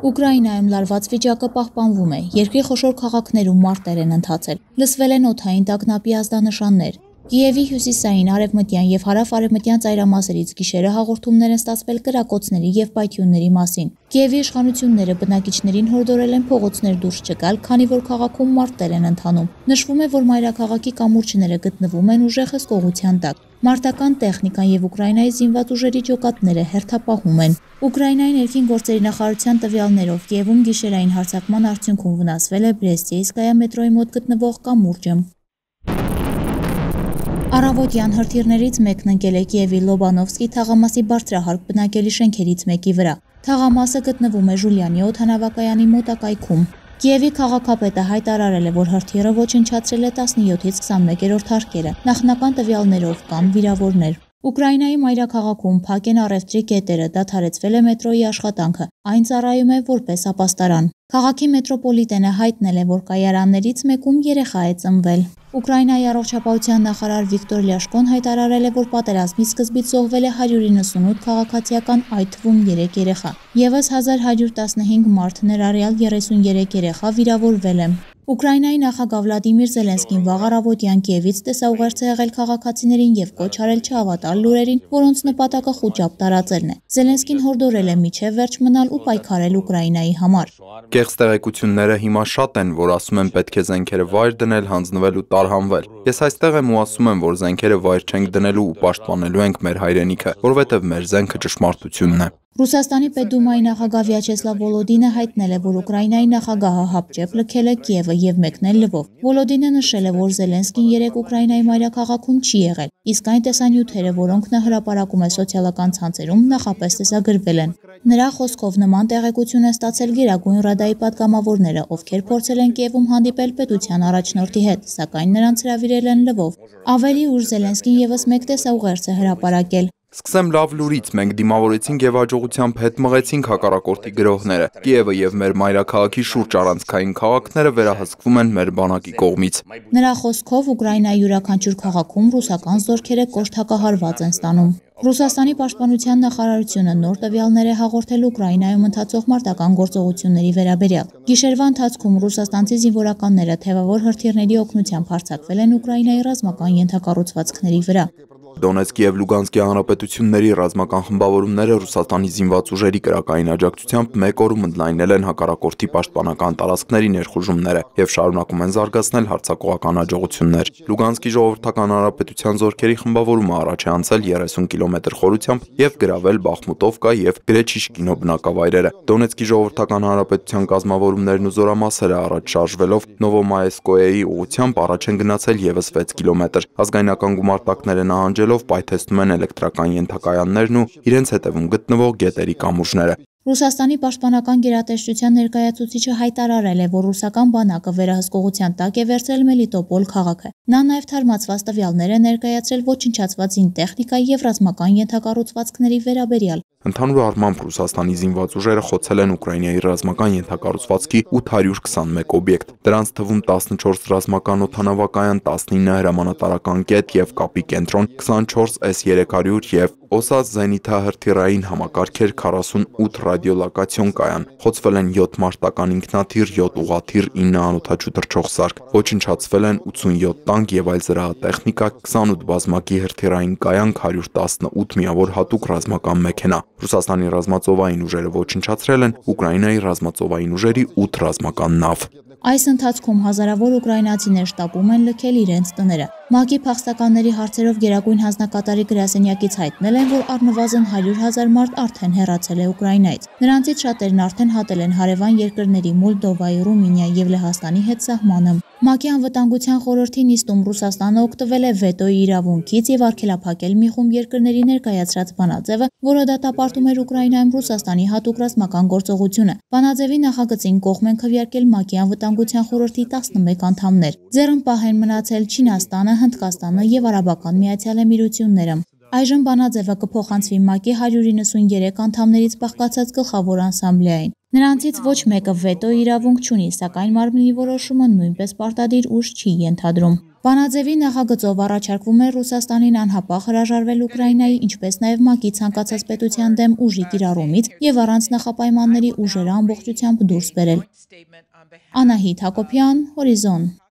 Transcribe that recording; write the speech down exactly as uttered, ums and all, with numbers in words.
Ուկրաինայում լարված վիճակը պահպանվում է, երկրի խոշոր քաղաքներում մարտեր են ընթացել, լսվել են օդային տագնապի ազդանշաններ։ Կիևի հյուսիսային, արևմտյան և հարավ-արևմտյան ծայրամասերից գիշերը հաղորդումներ են ստացվել կրակոցների և պայթյունների մասին։ Կիևի իշխանությունները բնակիչներին հորդորել են փողոցներ դուրս չգալ, քանի որ քաղաքում մարտեր են ընթանում։ Նշվում է, որ մայրաքաղաքի կամուրջները գտնվում են ուժեղ հսկողության տակ։ Մարտական տեխնիկան և Ուկրաինայի զինված ուժերի ջոկատները հերթապահում են։ Ուկրաինայի ներքին գործերի նախարարության տվյալներով Կիևում գիշերային հարձակման արդյունքում վնասվել է Բրեստիեյսկայա մետրոյի մոտ գտնվող կամուրջը։ Առավոտյան հրթիռներից մեկն ընկել է Կիևի Լոբանովսկի թաղամասի բարձրահարկ բնակելի շենքերից մեկի վրա։ Թաղամասը գտնվում է Ժուլյանի օդանավակայանի մոտակայքում։ Կիևի քաղաքապետը հայտարարել է, որ հրթիռը ոչնչացրել է տասնյոթից քսանմեկերորդ հարկերը։ Նախնական տվյալներով կան վիրավորներ։ Ուկրաինայի մայրաքաղաքում փակ են առևտրի կետերը, դադարեցվել է մետրոյի աշխատանքը, այն ծառայում է որպես ապաստարան։ Քաղաքի մետրոպոլիտենը հայտնել է, որ կայարաններից մեկում երեխա է ծնվել։ Ուկրաինայի առողջապահության նախարար Վիկտոր Լյաշկոն հայտարարել է, որ պատերազմի սկզբից զոհվել է հարյուր իննսունութ քաղաքացիական, այդ թվում երեք երեխա։ Եվս հազար հարյուր տասնհինգ մարդ, ներառյալ երեսունյերեք երեխա վիրավորվել է։ Ուկրաինայի նախագահ Վլադիմիր Զելենսկին վաղ առավոտյան Կիևից տեսաուղերձ է եղել քաղաքացիներին եւ կոչ արել չհավատալ լուրերին, որոնց նպատակը խուճապ տարածելն է։ Զելենսկին հորդորել է միջև վերջ մնալ ու պայքարել Ուկրաինայի համար։ Կեղծ տեղեկությունները հիմա շատ են, որ ասում են պետք է զենքերը վայր դնել, հանձնվել ու տարհանվել։ Ես այստեղ եմ ու ասում եմ, որ զենքերը վայր չենք դնելու ու պաշտպանելու ենք մեր հայրենիքը, որովհետև մեր զենքը ճշմարտությունն է։ Ռուսաստանի պետդումայի նախագահ Վյաչեսլավ Վոլոդինը հայտնել է, որ Ուկրաինայի նախագահը հապճեպ լքել է Կիևը եւ մեկնել Լվով։ Վոլոդինը նշել է, որ Զելենսկին երեկ Ուկրաինայի մայրաքաղաքում չի եղել, իսկ այն տեսանյութերը, որոնք նա հրապարակում է սոցիալական ցանցերում, նախապես տեսագրվել են։ Նրա խոսքով նման տեղեկություն են ստացել Գերագույն Ռադայի պատգամավորները, ովքեր փորձել են Կիևում հանդիպել պետության առաջնորդի հետ, սակայն նրանց հրավիրել են Լվով։ Ավելի ուշ Զելենսկին եւս մեկ տեսաուղերձ է հրապարակել։ Սկսեմ լավ լուրից, մենք դիմավորեցինք եւ աջողությամբ հետ մղեցինք հակառակորդի գրոհները։ Կիևը եւ մեր մայրաքաղաքի շուրջ առանցքային քաղաքները վերահսկվում են մեր բանակի կողմից։ Նրա խոսքով Ուկրաինայի յուրաքանչյուր քաղաքում ռուսական զորքերը կոշտ հակահարված են ստանում։ Ռուսաստանի պաշտպանության նախարարությունը նոր տվյալներ է հաղորդել Ուկրաինայում ընթացող մարտական գործողությունների վերաբերյալ։ Գիշերվա ընթացքում ռուսաստանցի զինվորականները թևավոր հրթիռների օգնությամբ հարձակվել են Ուկրաինայի ռազմական ենթակառուցվածքների վրա։ Դոնեցկի եւ Լուգանսկի հանրապետությունների ռազմական խմբավորումները Ռուսաստանի զինված ուժերի կրակային աջակցությամբ մեկ օրում ընդլայնել են հակառակորդի պաշտպանական տարածքների ներխուժումները եւ շարունակում են զարգացնել հարձակողական աջակցություններ։ Լուգանսկի ժողովրդական հանրապետության զորքերի խմբավորումը առաջ է անցել երեսուն կիլոմետր խորությամբ եւ գրավել Բախմուտովկա եւ Գրեչիշկինո բնակավայրերը։ Դոնեցկի ժողովրդական հանրապետության կազմավորումներն ու զորամասերը առաջ շարժվելով Նովոմայեսկոյեի ուղղությամբ առաջ են գնացել եւս վեց կիլոմետր։ Ազգայնական գումարտակները նահանջելով պայթեցնում են էլեկտրական ենթակայաններն ու իրենց հետևում գտնվող գետերի կամուրջները։ Ռուսաստանի պաշտպանական գերատեսչության ներկայացուցիչը հայտարարել է, որ ռուսական բանակը վերահսկողության տակ է վերցրել Մելիտոպոլ քաղաքը։ Նա նաև թարմացված տվյալներ է ներկայացրել ոչնչացված զինտեխնիկայի եւ ռազմական ենթակառուցվածքների վերաբերյալ։ Ընդհանուր առմամբ Ռուսաստանի զինված ուժերը խոցել են Ուկրաինայի ռազմական ենթակառուցվածքի ութ հարյուր քսանմեկ օբյեկտ։ Դրանց թվում տասնչորս ռազմական օդանավակայան, տասնինը հրամանատարական կետ եւ կապի կենտրոն, քսանչորս էս երեք հարյուր եւ Օսաց զենիթահրթիռային համակարգեր, քառասունութ ռադիոլոկացիոն կայան։ Խոցվել են յոթ մարտական ինքնաթիռ, յոթ ուղաթիռ, ինը անօդաչու թռչող սարք։ Ոչնչացվել են ութսունյոթ տանկ եւ այլ զրահատեխնիկա, քսանութ բազմակի հրթիռային կայանք, հարյուր տասնութ միավոր հատուկ ռազմական մեքենա։ Ռուսաստանի ռազմածովային ուժերը ոչնչացրել են Ուկրաինայի ռազմածովային ուժերի ութ ռազմական նավ։ Այս ընթացքում հազարավոր ուկրաինացիներ շտապում են լքել իրենց տները։ ՄԱԿ-ի փախստականների հարցերով գերագույն հանձնակատարի գրասենյակից հայտնել են, որ առնվազն հարյուր հազար մարդ արդեն հեռացել է Ուկրաինայից։ Նրանցից շատերն արդեն հատել են հարևան երկրների Մոլդովայի, Ռումինիայի եւ Լեհաստանի հետ սահմանը։ ՄԱԿ-ի անվտանգության խորհրդի նիստում Ռուսաստանը օգտվել է վետոյի իրավունքից եւ արգելափակել մի խումբ երկրների ներկայացրած բանաձևը, որը դատապարտում էր Ուկրաինայում Ռուսաստանի հատուկ ռազմական գործողությունը։ Բանաձևի նախագծին կողմ են քվեարկել ՄԱԿ-ի անվտանգության խորհրդի տասնմեկ անդամներ։ Ձեռնպահ են մնացել Չինաստանը, Հնդկաստանը եւ Արաբական Միացյալ Էմիրությունները։ Այժմ բանաձևը կփոխանցվի ՄԱԿ-ի հարյուր իննսունյերեք անդամներից բաղկացած գլխավոր ասամբլեային։ Նրանցից ոչ մեկը վետո իրավունք չունի, սակայն մարմնի որոշումը նույնպես պարտադիր ուժ չի ենթադրում։ Վանաձևի նախագծով առաջարկվում է Ռուսաստանին անհապաղ հրաժարվել Ուկրաինայի, ինչպես նաև ՄԱԿ-ի ցանկացած պետության դեմ ուժի կիրառումից եւ առանց նախապայմանների ուժերը ամբողջությամբ դուրս բերել։ Անահիտ Հակոբյան, Հորիզոն։